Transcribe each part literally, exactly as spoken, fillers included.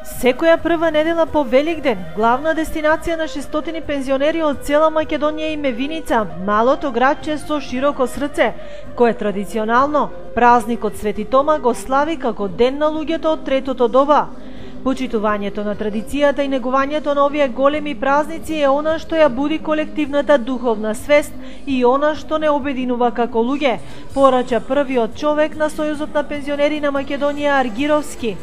Секоја прва недела по Великден, главна дестинација на шестстотини пензионери од цела Македонија им е Виница, малото градче со широко срце, кое традиционално празникот Свети Тома го слави како ден на луѓето од третото доба. Почитувањето на традицијата и негувањето на овие големи празници е она што ја буди колективната духовна свест и она што не обединува како луѓе, порача првиот човек на Сојузот на пензионери на Македонија Аргировски.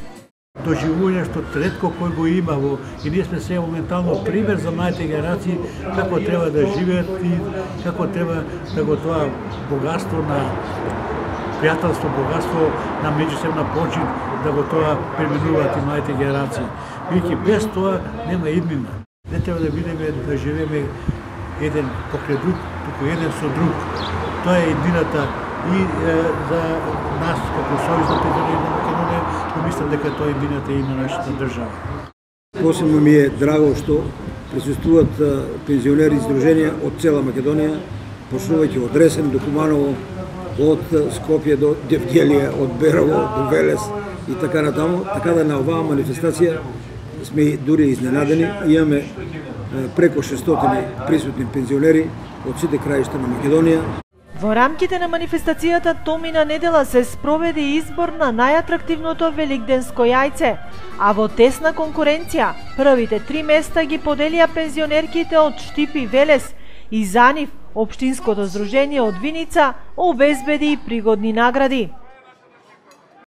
Доживување што ретко кој го има во и ние сме се моментално пример за младите генерации како треба да живеат и како треба да го тоа богатство на пријателство, богатство на меѓусебна почит да го тоа применуваат и младите генерации. Бидејќи без тоа нема иднина. Не треба да бидеме да живееме еден покрај друг, туку еден со друг. Тоа е иднината и е, за нас како Сојуз на пензионери на Македонија, мислам дека тоа е иднината и на нашата држава. Посебно ми е драго што присуствуваат пензионери издруженија од цела Македонија, почнувајќи од Ресен до Куманово, од Скопје до Девгелија, од Берово до Велес и така натаму, така да на оваа манифестација сме дури изненадени. Имаме преку шестстотини присутни пензионери од сите краишта на Македонија. Во рамките на манифестацијата томина недела се спроведе избор на најатрактивното великденско јајце, а во тесна конкуренција првите три места ги поделија пензионерките од Штип и Велес и за нив Општинското здружение од Виница обезбеди и пригодни награди.